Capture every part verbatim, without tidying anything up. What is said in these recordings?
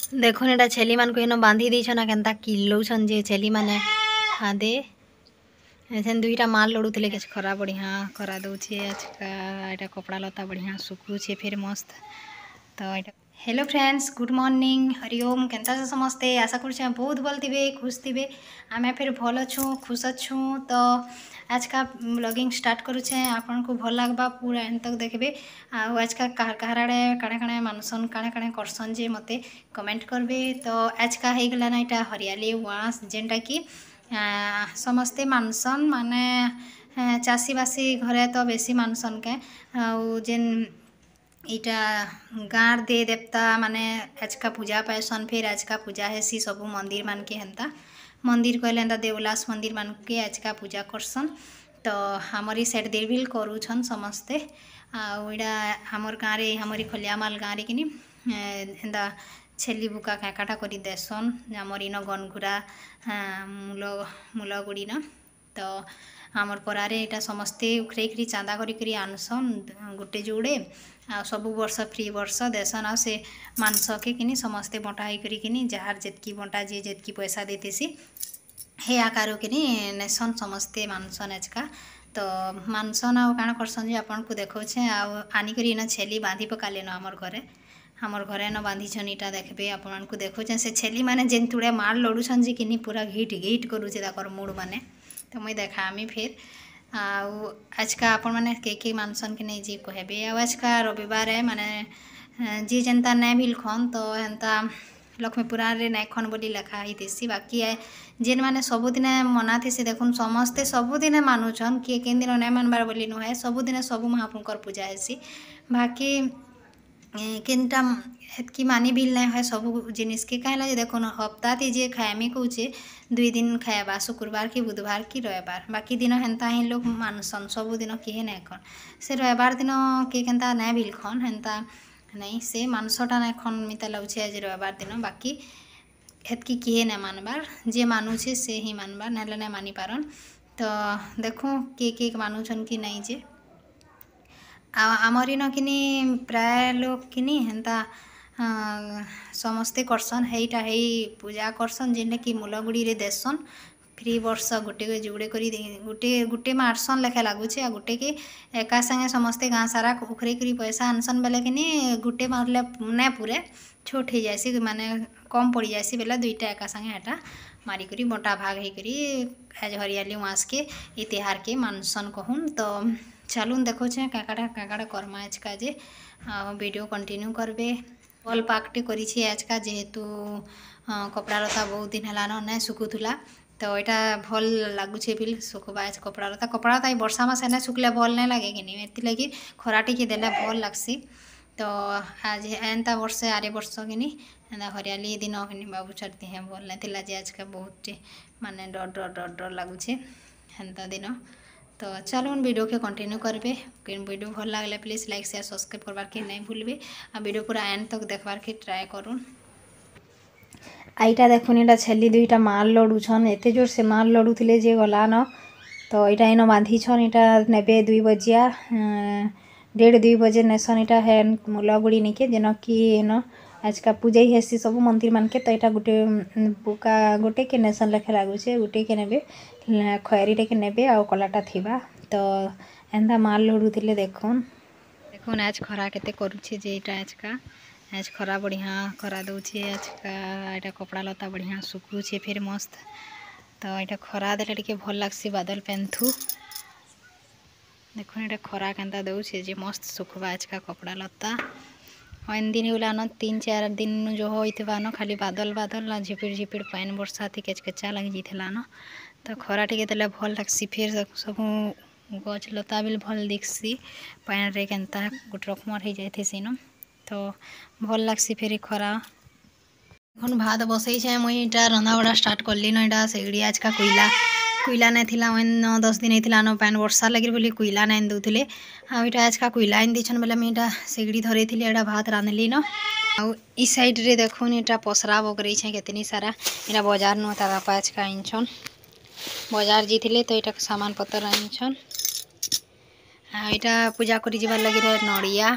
ଦେଖୁନ୍ ଏଟା ଛେଲି ମାନଙ୍କୁ ହେନ ବାନ୍ଧି ଦେଇଛନ୍ ଆଉ କେନ୍ତା କିଲଉଛନ୍ ଯେ ଛେଲି ମାନେ ହାଦେ ଏଛେନ୍ ଦୁଇଟା ମାଲ୍ ଲଢୁଥିଲେ। କିଛି ଖରା ବଢ଼ିଆ ଖରା ଦଉଛେ ଆଜକା। ଏଇଟା କପଡ଼ା ଲତା ବଢ଼ିଆ ଶୁଖୁଛେ ଫେର୍ ମସ୍ତ। ତ ଏଇଟା hello friends, good morning, Hariom. କେନ୍ତା ଅଛ ସମସ୍ତେ? ଆଶା କରୁଛେଁ ବହୁତ ଭଲ ଥିବେ, ଖୁସ୍ ଥିବେ। ଆମେ ଫେର୍ ଭଲ ଅଛୁଁ, ଖୁସ୍ ଅଛୁଁ। ତ ଆଜକା ବ୍ଲଗିଂ ଷ୍ଟାର୍ଟ କରୁଛେଁ, ଆପଣଙ୍କୁ ଭଲ ଲାଗ୍ବା, ପୁରା ଏଣ୍ଡ ତକ୍ ଦେଖିବେ। ଆଉ ଆଜକା କାହାର କାହାର ଆଡ଼େ କାଣା କାଣା ମାନସନ୍, କାଣା କାଣା କରସନ୍ ଯେ ମୋତେ କମେଣ୍ଟ କରିବେ। ତ ଆଜକା ହେଇଗଲା ନା ଏଇଟା ହରିୟାଲି ଉଆଁସ, ଯେନ୍ଟା କି ସମସ୍ତେ ମାନସନ୍, ମାନେ ଚାଷୀବାସୀ ଘରେ ତ ବେଶୀ ମାନସନ୍ କେ। ଆଉ ଯେନ୍ ଇଟା ଗାଁର ଦେ ଦେବତା ମାନେ ଆଜକା ପୂଜା ପାଏସନ୍, ଫେର୍ ଆଜକା ପୂଜା ହେସି ସବୁ ମନ୍ଦିର ମାନକେ। ହେନ୍ତା ମନ୍ଦିର କହିଲେ ହେନ୍ତା ଦେଉଲାସ ମନ୍ଦିର ମାନକେ ଆଜକା ପୂଜା କରସନ୍। ତ ଆମରି ସାଇଡ଼୍ ଦେବିଲ୍ କରୁଛନ୍ ସମସ୍ତେ। ଆଉ ଏଇଟା ଆମର୍ ଗାଁରେ, ଆମରି ଖଲିଆମାଲ ଗାଁରେ କିନି ଏନ୍ତା ଛେଲି ବୁକା କାଁକାଟା କରି ଦେସନ୍, ଆମର୍ ଇନ ଗନଘୁରା ମୂଲ ମୂଲଗୁଡ଼ିନ। ତ ଆମର୍ ପରାରେ ଏଇଟା ସମସ୍ତେ ଉଖରେଇକିରି ଚାନ୍ଦା କରିକିରି ଆନସନ୍ ଗୋଟେ ଯୋଡ଼େ, ଆଉ ସବୁ ବର୍ଷ ଫ୍ରି ବର୍ଷ ଦେସନ୍। ଆଉ ସେ ମାଂସକେ କିନି ସମସ୍ତେ ବଣ୍ଟା ହେଇକରି କିନି, ଯାହାର ଯେତ୍କି ବଣ୍ଟା, ଯିଏ ଯେତ୍କି ପଇସା ଦେଇଥିସି, ହେ ଆକାର କିନି ନେସନ୍ ସମସ୍ତେ, ମାନସନ୍ ଆଜକା। ତ ମାନସନ୍ ଆଉ କାଣା କରସନ୍ ଯେ ଆପଣଙ୍କୁ ଦେଖଉଛେଁ। ଆଉ ଆନିକରି ଇନ ଛେଲି ବାନ୍ଧି ପକାଲେନ ଆମର୍ ଘରେ, ଆମର୍ ଘରେ ନ ବାନ୍ଧିଛନ୍। ଇଟା ଦେଖବେ, ଆପଣମାନଙ୍କୁ ଦେଖଉଛେଁ। ସେ ଛେଲି ମାନେ ଯେନ୍ ତୁଡ଼େ ମାଡ଼ ଲଢ଼ୁଛନ୍ ଯେ କିନି ପୁରା ଘିଟ୍ ଘିଟ୍ କରୁଛେ ତାକର୍ ମୁଡ଼ ମାନେ। ତ ମୁଇଁ ଦେଖାମି ଫେର୍। ଆଉ ଆଜକା ଆପଣମାନେ କେ କେ ମାନସନ୍ କି ନେଇ ଯେ କହିବେ। ଆଉ ଆଜକା ରବିବାର, ମାନେ ଯିଏ ଯେନ୍ତା ନାଇଁ ଭିଲ୍ ଖନ୍, ତ ହେନ୍ତା ଲକ୍ଷ୍ମୀ ପୁରାଣରେ ନାଇଁ ଖନ୍ ବୋଲି ଲେଖା ହେଇଥିସି। ବାକି ଯେନ୍ମାନେ ସବୁଦିନେ ମନାଥିସି, ଦେଖୁନ୍ ସମସ୍ତେ ସବୁଦିନେ ମାନୁଛନ୍। କିଏ କେନ୍ ଦିନ ନାଇଁ ମାନବାର୍ ବୋଲି ନୁହେଁ, ସବୁଦିନେ ସବୁ ମହାପ୍ରଭୁଙ୍କର ପୂଜା ହେସି। ବାକି କେନ୍ଟା ହେତ୍କି ମାନି ବିଲ୍ ନାଇଁ ହୁଏ ସବୁ ଜିନିଷ୍କେ। କାଁ ହେଲା ଯେ ଦେଖୁନ୍, ହପ୍ତାତି ଯିଏ ଖାଏମି କହୁଛେ, ଦୁଇ ଦିନ ଖାଏବା, ଶୁକ୍ରବାର କି ବୁଧବାର କି ରବିବାର। ବାକି ଦିନ ହେନ୍ତା ହିଁ ଲୋକ୍ ମାନସନ୍, ସବୁଦିନ କେହି ନାଇଁ ଖନ୍। ସେ ରବିବାର ଦିନ କିଏ କେନ୍ତା ନାଇଁ ଭିଲ୍ ଖନ୍, ହେନ୍ତା ନାଇଁ, ସେ ମାଂସଟା ନାଇଁ ଖନ୍ ମିତା ଲାଗୁଛେ ଆଜି ରବିବାର ଦିନ। ବାକି ହେତ୍କି କିଏ ନାଇଁ ମାନବାର୍, ଯିଏ ମାନୁଛେ ସେ ହିଁ ମାନବାର୍, ନାହେଲେ ନାଇଁ ମାନିପାରନ୍। ତ ଦେଖୁଁ କିଏ କିଏ ମାନୁଛନ୍ କି ନାଇଁ ଯେ। ଆଉ ଆମର୍ ଇନ କିନି ପ୍ରାୟ ଲୋକ୍ କିନି ହେନ୍ତା ସମସ୍ତେ କରସନ୍, ହେଇଟା ହେଇ ପୂଜା କରସନ୍, ଯେନ୍ଟାକି ମୂଲଗୁଡ଼ିରେ ଦେସନ୍ ଫ୍ରି ବର୍ଷ ଗୋଟେ ଯୁଡ଼େ କରି ଗୋଟେ ଗୋଟେ ମାରସନ୍ ଲେଖା ଲାଗୁଛେ। ଆଉ ଗୁଟେକେ ଏକା ସାଙ୍ଗେ ସମସ୍ତେ ଗାଁ ସାରା ଉଖରେଇ କରି ପଇସା ଆନସନ୍ ବେଲେ କିନି ଗୁଟେ ମାରଲେ ନାଇଁ ପୁରେ, ଛୋଟ୍ ହେଇଯାଏସି, ମାନେ କମ୍ ପଡ଼ିଯାଏସି ବେଲେ ଦୁଇଟା ଏକା ସାଙ୍ଗେ ହେଟା ମାରିକରି ବଣ୍ଟା ଭାଗ ହେଇକରି ଆଜ୍ ହରିୟାଲି ଉଆଁସକେ ଇ ତିହାରକେ ମାନସନ୍ କହୁନ୍। ତ ଚାଲୁନ୍ ଦେଖଉଛେଁ କାଁ କାଣା କାଁ କାଣା କର୍ମା ଆଜକା ଯେ, ଆଉ ଭିଡ଼ିଓ କଣ୍ଟିନ୍ୟୁ କରବେ। ଭଲ୍ ପାଗଟେ କରିଛି ଆଜକା, ଯେହେତୁ କପଡ଼ା ଲତା ବହୁତ ଦିନ ହେଲାନ ନାଇଁ ଶୁଖୁଥିଲା, ତ ଏଇଟା ଭଲ୍ ଲାଗୁଛେ ବିଲ୍ ଶୁଖବା କପଡ଼ା ଲତା। କପଡ଼ା ଲତା ଏଇ ବର୍ଷା ମାସେ ନାଇଁ ଶୁଖିଲେ ଭଲ୍ ନାଇଁ ଲାଗେ କିନି, ଏଥିଲାଗି ଖରା ଟିକେ ଦେଲେ ଭଲ୍ ଲାଗ୍ସି। ତ ଆଜି ଏନ୍ତା ବର୍ଷେ ଆରେ ବର୍ଷ କିନି ଏନ୍ତା ହରିୟାଲି ଦିନ କିନି ବାବୁଛାର ଦିହେଁ ଭଲ୍ ନାଇଁ ଥିଲା ଯେ, ଆଜକା ବହୁତଟେ ମାନେ ଡର ଡର ଡର ଡର ଲାଗୁଛେ ହେନ୍ତା ଦିନ। ତ ଚାଲୁନ୍ ଭିଡ଼ିଓକେ କଣ୍ଟିନ୍ୟୁ କରବେ। ଭିଡ଼ିଓ ଭଲ ଲାଗଲେ ପ୍ଲିଜ୍ ଲାଇକ୍, ସେୟାର, ସବସ୍କ୍ରାଇବ୍ କରବାର୍ ନାଇଁ ଭୁଲବେ ଆଉ ଭିଡ଼ିଓ ପୁରା ଏଣ୍ଡ ତକ୍ ଦେଖବାର୍ କେ ଟ୍ରାଏ କରୁନ୍। ଏଇଟା ଦେଖୁନ୍, ଏଇଟା ଛେଲି ଦୁଇଟା ମାଲ୍ ଲଢୁଛନ୍। ଏତେ ଜୋର ସେ ମାଲ୍ ଲଢୁଥିଲେ ଯେ ଗଲାନ। ତ ଏଇଟା ଇନ ବାନ୍ଧିଛନ୍, ଏଇଟା ନେବେ ଦୁଇ ବଜିଆ, ଦେଢ଼ ଦୁଇ ବଜେ ନେସନ୍ ଏଇଟା ହେନ୍ ମୂଲଗୁଡ଼ି ନିକେ, ଯେନ କି ଏନ ଆଜକା ପୂଜା ହେସି ସବୁ ମନ୍ଦିର ମାନକେ। ତ ଏଇଟା ଗୋଟେ ବୁକା ଗୋଟେ କେ ନେସନ୍ ଲେଖା ଲାଗୁଛେ, ଗୋଟେ କେ ନେବେ, ଖଏରୀଟେ ନେବେ ଆଉ କଲାଟା ଥିବା। ତ ଏନ୍ତା ମାଲ୍ ଲଢୁଥିଲେ। ଦେଖୁନ୍ ଦେଖୁନ୍ ଆଜ ଖରା କେତେ କରୁଛେ ଯେ। ଏଇଟା ଆଜକା ଆଜ ଖରା ବଢ଼ିଆ ଖରା ଦଉଛେ ଆଜକା। ଏଇଟା କପଡ଼ା ଲତା ବଢ଼ିଆ ଶୁଖୁଛେ ଫେର୍ ମସ୍ତ। ତ ଏଇଟା ଖରା ଦେଲେ ଟିକେ ଭଲ ଲାଗ୍ସି ବାଦଲ ପେନ୍ଥୁ। ଦେଖୁନ୍ ଏଇଟା ଖରା କେନ୍ତା ଦଉଛେ ଯେ, ମସ୍ତ ଶୁଖବା ଆଜକା କପଡ଼ା ଲତା। ଅଏନ୍ ଦିନ ହେଇଗଲାନ, ତିନି ଚାରି ଦିନ ଯୋ ହେଇଥିବାନ, ଖାଲି ବାଦଲ ବାଦଲ, ଝିପିର ଝିପିର ପାଏନ୍ ବର୍ଷା ଥି କେଚ କେଚା ଲାଗି ଯାଇଥିଲାନ। ତ ଖରା ଟିକେ ଦେଲେ ଭଲ୍ ଲାଗ୍ସି, ଫେର୍ ସବୁ ଗଛ ଲତା ବି ଭଲ୍ ଦିଖ୍ସି, ପାଏନ୍ରେ କେନ୍ତା ଗୋଟେ ରକମର୍ ହେଇଯାଇଥିସିନ। ତ ଭଲ୍ ଲାଗ୍ସି ଫେର୍ ଖରା। এখন ଭାତ ବସେଇଛେଁ ମୁଇଁ, ଇଟା ରନ୍ଧାବଢ଼ା ଷ୍ଟାର୍ଟ କଲିନ। ଏଇଟା ସେଗଡ଼ି ଆଜକା କୋଇଲା କୋଇଲା ନାଇଁ ଥିଲା, ନଅ ଦଶ ଦିନ ହେଇଥିଲା ନ, ପାଏନ୍ ବର୍ଷା ଲାଗି ବୋଲି କୋଇଲା ନାଇଁ ଦଉଥିଲେ। ଆଉ ଏଇଟା ଆଜକା କୋଇଲା ଆଣି ଦେଇଛନ୍ ବେଲେ ମୁଇଁ ଏଇଟା ସେଗଡ଼ି ଧରେଇଥିଲି, ଏଇଟା ଭାତ ରାନ୍ଧଲିନ। ଆଉ ଇ ସାଇଡ଼୍ରେ ଦେଖୁନ୍, ଏଇଟା ପସରା ବଗରେଇଛେଁ କେତେନି ସାରା। ଏଇଟା ବଜାର ନୁ ତାର ବାପା ଆଜକା ଆଣିଛନ୍, ବଜାର ଯାଇଥିଲେ ତ ଏଇଟା ସାମାନ ପତ୍ର ଆଣିଛନ୍। ଆଉ ଏଇଟା ପୂଜା କରି ଯିବାର ଲାଗି ନଡ଼ିଆ।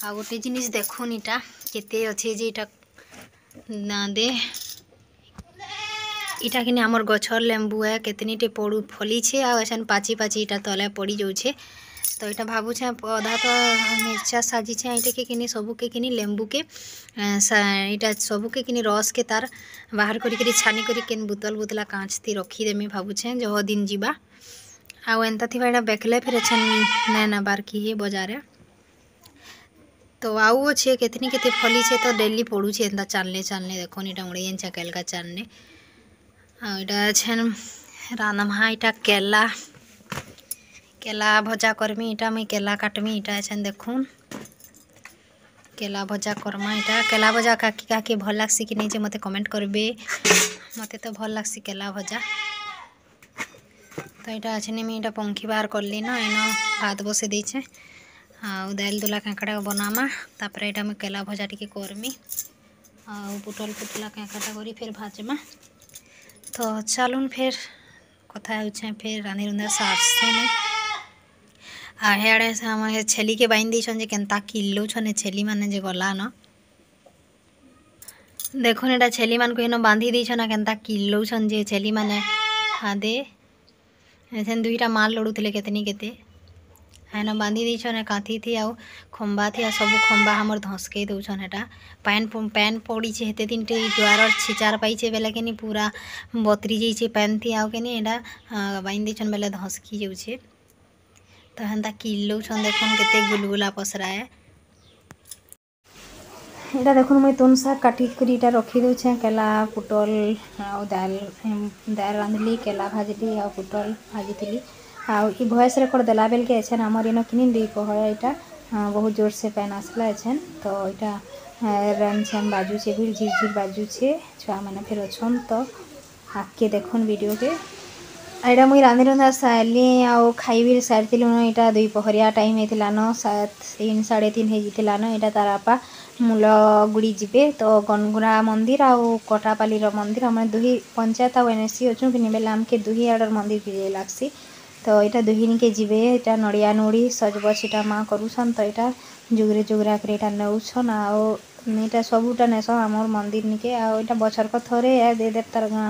ଆଉ ଗୋଟେ ଜିନିଷ ଦେଖୁନ୍, ଏଇଟା କେତେ ଅଛେ ଯେ, ଏଇଟା ନା ଦେ ଇଟା କିନି ଆମର ଗଛର ଲେମ୍ବୁ ଏ କେତନିଟେ ପଡ଼ୁ ଫଲିଛେ ଆଉ ଏଛେନ୍ ପାଚି ପାଚି ଇଟା ତଲେ ପଡ଼ି ଯାଉଛେ। ତ ଏଇଟା ଭାବୁଛେ ଅଧା ତ ମିର୍ଚା ସାଜିଛେ, ଏଇଟାକେ କିନି ସବୁକେ କିନି ଲେମ୍ବୁକେ ଏଇଟା ସବୁକେ କିନି ରସକେ ତାର ବାହାର କରିକିରି ଛାନି କରି କେନ୍ ବୁତଲ ବୁତଲା କାଞ୍ଚ ଥି ରଖିଦେମି ଭାବୁଛେ, ଜହ ଦିନ ଯିବା। ଆଉ ଏନ୍ତା ଥିବା ଏଇଟା ବେକଲେ ଫେର୍ ଏଛେନ୍ ନାଇଁ ନେବାର୍ କି ହେ ବଜାରେ। ତ ଆଉ ଅଛେ କେତନି କେତେ ଫଲିଛେ, ତ ଡେଲି ପଡ଼ୁଛେ ଏନ୍ତା ଚାଲନେ ଚାଲନେ। ଦେଖୁନ୍, ଏଇଟା ଉଡ଼େଇ ଜାଣିଛେ କେଲକା ଚାଲନେ। ଆଉ ଏଇଟା ଏଛେନ୍ ରାନ୍ଧମା, ଏଇଟା କେଲା କେଲା ଭଜା କରମି। ଏଇଟା ମୁଇଁ କେଲା କାଟମି। ଏଇଟା ଏଛେନ୍ ଦେଖୁନ୍, କେଲା ଭଜା କର୍ମା। ଏଇଟା କେଲା ଭଜା କାକି କାକି ଭଲ୍ ଲାଗ୍ସି କି ନାଇଁ ଯେ ମୋତେ କମେଣ୍ଟ କରିବେ। ମୋତେ ତ ଭଲ୍ ଲାଗ୍ସି କେଲା ଭଜା। ତ ଏଇଟା ଅଛେନି, ମୁଇଁ ଏଇଟା ପଙ୍ଖି ବାହାର କଲି ନା, ଏଇନ ଭାତ ବସେଇ ଦେଇଛେ ଆଉ ଦାଇଲ ଦୁଲା କାଙ୍କଡ଼ା ବନାମା। ତାପରେ ଏଇଟା ମୁଇଁ କେଲା ଭଜା ଟିକେ କରମି ଆଉ ପୋଟଲ ପୁତଲା କାଙ୍କଡ଼ା କରି ଫେର୍ ଭାଜମା। ତ ଚାଲୁନ୍, ଫେର୍ କଥା ହେଉଛେଁ, ଫେର୍ ରାନ୍ଧି ରୁନ୍ଧା ସାରସି ମୁଇଁ। ଆଉ ହେଆଡ଼େ ସେ ଆମ ଛେଲିକେ ବାନ୍ଧି ଦେଇଛନ୍ ଯେ କେନ୍ତା କିଲୋଉଛନ୍ ଏ ଛେଲି ମାନେ ଯେ ଗଲାନ। ଦେଖୁନ୍, ଏଇଟା ଛେଲି ମାନଙ୍କୁ ହେନ ବାନ୍ଧି ଦେଇଛନ୍, କେନ୍ତା କିଲୋଉଛନ୍ ଯେ ଛେଲି ମାନେ। ହାଦେ ଏଛେନ୍ ଦୁଇଟା ମାଲ୍ ଲଢ଼ୁଥିଲେ କେତେନି କେତେ। ହେନ ବାନ୍ଧି ଦେଇଛନ୍ କାନ୍ଥି ଥି ଆଉ ଖମ୍ବା ଥି, ଆଉ ସବୁ ଖମ୍ବା ଆମର ଧସକେଇ ଦଉଛନ୍। ହେଟା ପାଏନ୍ ପାଏନ୍ ପଡ଼ିଛେ ହେତେ ଦିନଟେ, ଜୁଆର ଛିଚାର ପାଇଛେ ବେଲେ କିନି ପୁରା ବତରି ଯାଇଛେ ପାଏନ୍ ଥି, ଆଉ କିନି ଏଇଟା ବାନ୍ଧି ଦେଇଛନ୍ ବେଲେ ଧସକି ଯାଉଛେ। ତ ହେନ୍ତା କିଲୋଉଛନ୍ ଦେଖୁନ୍, କେତେ ଗୁଲଗୁଲା ପସରାଏ। ଏଇଟା ଦେଖୁନ୍, ମୁଇଁ ତୁନ୍ ଶାଗ କାଟିକରି ଏଇଟା ରଖି ଦଉଛେଁ। କେଲା, ପୋଟଲ ଆଉ ଦାଏଲ ଦାଏଲ ରାନ୍ଧଲି, କେଲା ଭାଜିଲି ଆଉ ପୋଟଲ ଭାଜିଥିଲି। ଆଉ ଇ ଭଏସ୍ ରେକର୍ଡ ଦେଲା ବେଲକେ ଏଛେନ୍ ଆମର ଇନ କିନି ଦୁଇ ପହର ଏଇଟା ବହୁତ ଜୋରସେ ପାଏନ୍ ଆସିଲା ଏଛେନ୍। ତ ଏଇଟା ରେମ୍ ଛେମ୍ ବାଜୁଛେ ବି, ଝିର୍ ଝିର୍ ବାଜୁଛେ। ଛୁଆମାନେ ଫେର୍ ଅଛନ୍, ତ ଆଗକେ ଦେଖୁନ୍ ଭିଡ଼ିଓକେ। ଏଇଟା ମୁଇଁ ରାନ୍ଧି ରୁନ୍ଧା ସାରିଲି ଆଉ ଖାଇ ବି ସାରିଥିଲୁନ। ଏଇଟା ଦୁଇ ପହରିଆ ଟାଇମ୍ ହେଇଥିଲାନ, ସାତ ତିନି ସାଢ଼େ ତିନି ହେଇଯାଇଥିଲାନ। ଏଇଟା ତାର ବାପା ମୂଲଗୁଡ଼ି ଯିବେ ତ ଗନଗୁରା ମନ୍ଦିର ଆଉ କଟାପାଲିର ମନ୍ଦିର। ଆମେ ଦୁହି ପଞ୍ଚାୟତ ଆଉ ଏନ୍ ଏସ୍ ସି ଅଛୁଁ କିନି ବେଲେ ଆମକେ ଦୁହି ଆଡ଼ର ମନ୍ଦିର ଯାଇ ଲାଗ୍ସି। ତ ଏଇଟା ଦୁହିନିକେ ଯିବେ। ଏଇଟା ନଡ଼ିଆ ନୁଡ଼ି ସଜବଜ ଏଇଟା ମା କରୁଛନ୍। ତ ଏଇଟା ଯୁଗରେ ଯୁଗରା କରି ଏଇଟା ନେଉଛନ୍ ଆଉ ଏଇଟା ସବୁଟା ନେସନ୍ ଆମର ମନ୍ଦିର ନିକେ। ଆଉ ଏଇଟା ବଛରକ ଥରେ ଦେ ଦେବତାର ଗାଁ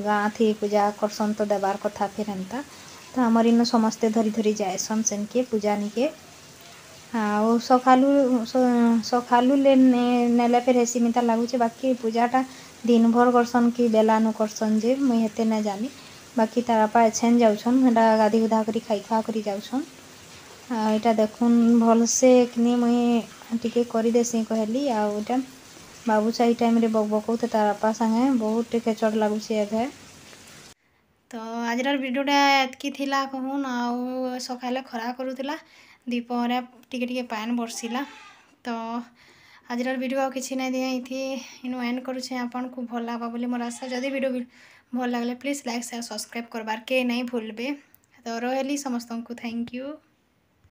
ଗାଁ ଥି ପୂଜା କରସନ୍, ତ ଦେବାର୍ କଥା ଫେର୍ ଏନ୍ତା। ତ ଆମର ଇନୁ ସମସ୍ତେ ଧରି ଧରି ଯାଏସନ୍ ସେନ୍କେ ପୂଜା ନିକେ। ଆଉ ସକାଲୁ ସକାଲୁ ନେଲେ ଫେର୍ ହେସି ମିତା ଲାଗୁଛେ। ବାକି ପୂଜାଟା ଦିନ ଭର କରସନ୍ କି ବେଲାନୁ କରସନ୍ ଯେ ମୁଇଁ ହେତେ ନାଇଁ ଜାନି। ବାକି ତାର ବାପା ଏଛେନ୍ ଯାଉଛନ୍, ହେଟା ଗାଧି ଗୁଧା କରି ଖାଇ ଖୁଆ କରି ଯାଉଛନ୍। ଆଉ ଏଇଟା ଦେଖୁନ୍, ଭଲସେ କିନି ମୁଇଁ ଟିକେ କରିଦେସି କହିଲି। ଆଉ ଏଇଟା ବାବୁଚା ଏଇ ଟାଇମ୍ରେ ବକ୍ ବକଉथे ତାର ବାପା ସାଙ୍ଗେ, ବହୁତ ଟିକେ ଚଡ଼ ଲାଗୁଛି ଏବେ। ତ ଆଜିର ଭିଡ଼ିଓଟା ଏତ୍କି ଥିଲା କହୁନ୍। ଆଉ ସକାଲେ ଖରା କରୁଥିଲା, ଦ୍ୱିପହରେ ଟିକେ ଟିକେ ପାଏନ୍ ବର୍ଷିଲା। ତ ଆଜିର ଭିଡ଼ିଓ ଆଉ କିଛି ନାଇଁ ଦିଏ, ଏଇଥି ଇନୁ ଏଣ୍ଡ କରୁଛେ। ଆପଣଙ୍କୁ ଭଲ ଲାଗ୍ବା ବୋଲି ମୋର ଆଶା। ଯଦି ଭିଡ଼ିଓ ଭଲ ଲାଗଲେ ପ୍ଲିଜ୍ ଲାଇକ୍, ସେୟାର, ସବସ୍କ୍ରାଇବ୍ କରବାର୍ କେ ନାଇଁ ଭୁଲବେ। ତ ରହିଲି, ସମସ୍ତଙ୍କୁ thank you.